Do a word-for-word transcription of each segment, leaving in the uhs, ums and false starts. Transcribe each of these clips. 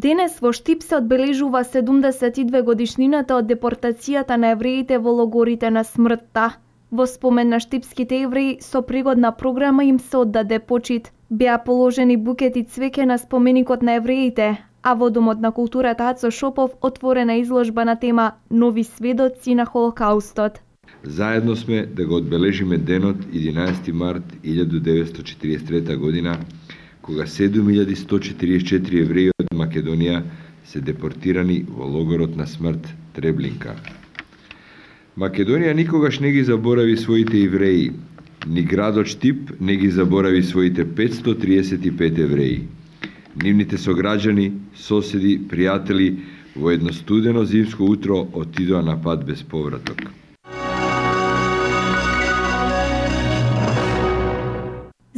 Денес во Штип се одбележува седумдесет и две годишнината од депортацијата на евреите во логорите на смртта. Во спомен на штипските евреи со пригодна програма им се оддаде почит. Беа положени букети цвеќе на споменикот на евреите, а во Домот на културата Ацо Шопов отворена изложба на тема Нови сведоци на Холокаустот. Заедно сме да го одбележиме денот единаесети март илјада деветстотини четиридесет и трета година, кога седум илјади сто четиридесет и четири евреи од Македонија се депортирани во логорот на смрт Треблинка. Македонија никогаш не ги заборави своите евреи, ни градот Штип не ги заборави своите петстотини триесет и пет евреи. Нивните сограѓани, соседи, пријатели во едно студено зимско утро отидоа на пат без повраток.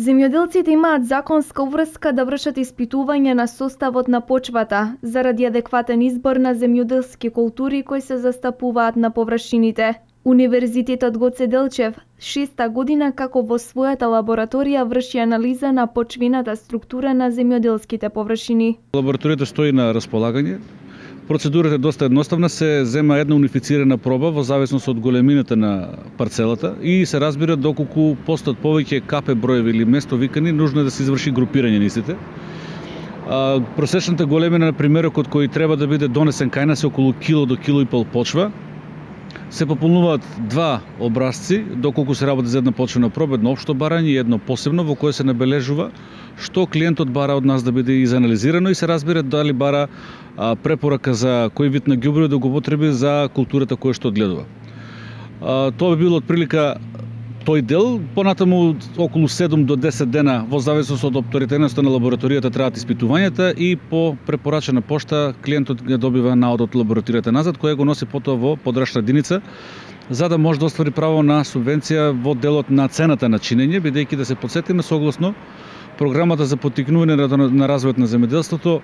Земјоделците имаат законска уврска да вршат испитување на составот на почвата заради адекватен избор на земјоделски култури кои се застапуваат на површините. Универзитетот Гоце Делчев шеста година како во својата лабораторија врши анализа на почвената структура на земјоделските површини. Лабораторијата стои на располагање. Процедурата е доста едноставна, се зема една унифицирана проба во зависност од големината на парцелата и се разбира доколку постојат повеќе капе броеви или место викани, нужно е да се изврши групирање на истите. А, просечната големина на примерокот кој треба да биде донесен кај нас е околу кило до кило и пол почва. Се пополнуваат два образци, доколку се работи за една почвена проба, едно општо барање и едно посебно во кое се набележува што клиентот бара од нас да биде изанализирано и се разбира дали бара а, препорака за кој вид на ѓубриво да го употреби за културата која што одгледува. А, тоа би било отприлика тој дел, понатаму околу седум до десет дена во зависност од авторитетноста на лабораторијата траат испитувањата и по препорачена пошта клиентот ги добива наод од лабораторијата назад, која го носи потоа во подрачна единица, за да може да оствари право на субвенција во делот на цената на чинење, бидејќи да се потсетиме согласно програмата за поттикнување на развојот на земјоделството,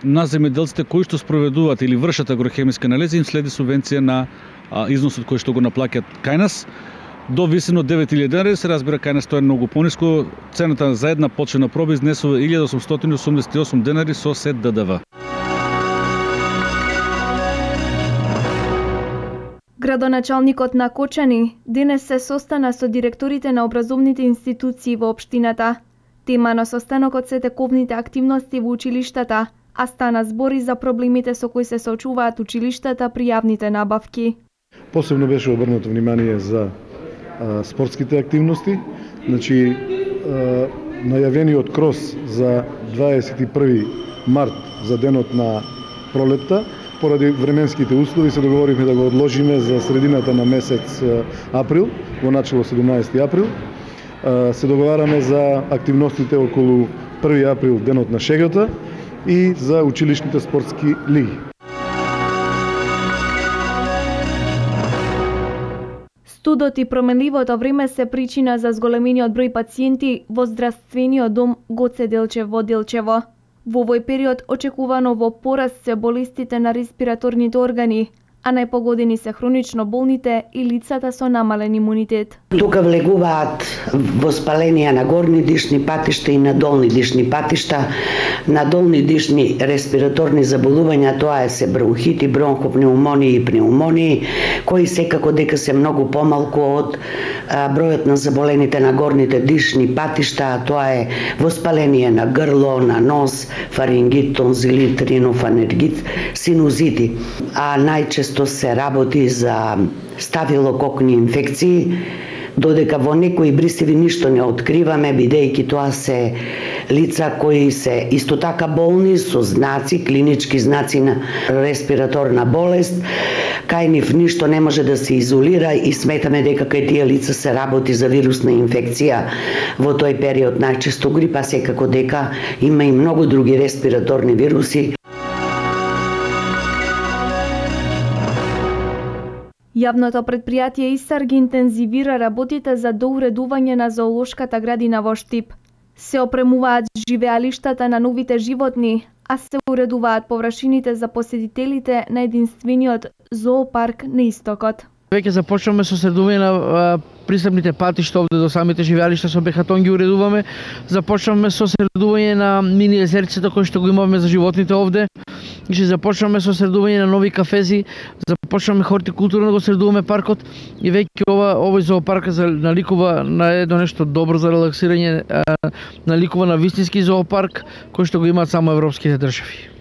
на земјоделците кои што спроведуваат или вршат агрохемиски анализи им следи субвенција на а, износот кој што го наплаќаат кај нас. До висина од девет илјади денари, се разбира кај нас тоа е многу пониско. Цената за една почвена проба изнесува илјада осумстотини осумдесет и осум денари со се Д Д В. Градоначалникот на Кочани денес се состана со директорите на образовните институции во општината. Тема на состанокот се тековните активности во училиштата, а стана збори за проблемите со кои се соочуваат училиштата при јавните набавки. Посебно беше обрнато внимание за а, спортските активности. Значи, а, најавениот крос за дваесет и први март за денот на пролетта, поради временските услови се договоривме да го одложиме за средината на месец април, во начало седумнаесети април. Се договараме за активностите околу први април, денот на шегата, и за училишните спортски лиги. Студот и променливото време се причина за зголемениот број пациенти во здравствениот дом Гоце Делчев во Делчево. Во овој период очекувано во пораст се болестите на респираторните органи, а најпогодени се хронично болните и лицата со намален имунитет. Тука влегуваат воспаленија на горни дишни патишта и на долни дишни патишта. На долни дишни респираторни заболувања тоа е се бронхити, бронхопнеумонии и пнеумонии, кои секако дека се многу помалку од а, бројот на заболените на горните дишни патишта, а тоа е воспаление на грло, на нос, фарингит, тонзилит, ринофанергит, синузити. А најчесто се работи за стафилококни инфекции, додека во некои бристеви ништо не откриваме, бидејќи тоа се лица кои се исто така болни со знаци, клинички знаци на респираторна болест. Кај нив ништо не може да се изолира и сметаме дека кај тие лица се работи за вирусна инфекција во тој период, најчесто грипа, секако дека има и многу други респираторни вируси. Јавното предпријатие ИСАР ги интензивира работите за доуредување на зоолошката градина во Штип. Се опремуваат живеалиштата на новите животни, а се уредуваат површините за посетителите на единствениот зоопарк на истокот. Веќе започнуваме со средување на пристапните патишта овде до самите живеалишта, со бехатон ги уредуваме. Започнуваме со средување на мини езерцето кои што го имаме за животните овде. Значи започнаме со средување на нови кафези, започнаме хортикултура да го средуваме паркот и веќе ова овој зоопарк наликува на едно нешто добро за релаксирање, наликува на вистински зоопарк кој што го имаат само европските држави.